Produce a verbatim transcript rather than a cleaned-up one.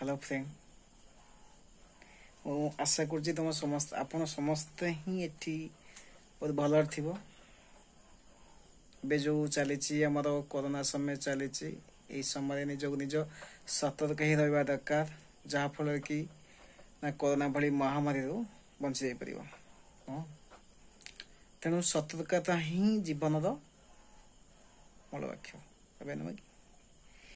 Hello friend, ମୁଁ ଆଶା କରୁଛି ତୁମ ସମସ୍ତେ, ଆପଣ ସମସ୍ତେ ହିଁ ଏଠି ବହୁତ ଭଲରେ ଥିବ। ଏବେ ଯେଉଁ ଚାଲିଛି ଆମର କରୋନା ସମୟ ଚାଲିଛି, ଏଇ ସମୟରେ ନିଜକୁ ନିଜ ସତର୍କ ହିଁ ରହିବା ଦରକାର, ଯାହାଫଳରେ କି ନା କରୋନା ଭଳି ମହାମାରୀରୁ ବଞ୍ଚି ଯାଇପାରିବ। ହଁ, ତେଣୁ ସତର୍କତା ହିଁ ଜୀବନର ମୂଳ ବାକ୍ୟ ଏବେ ନୁହେଁ କି?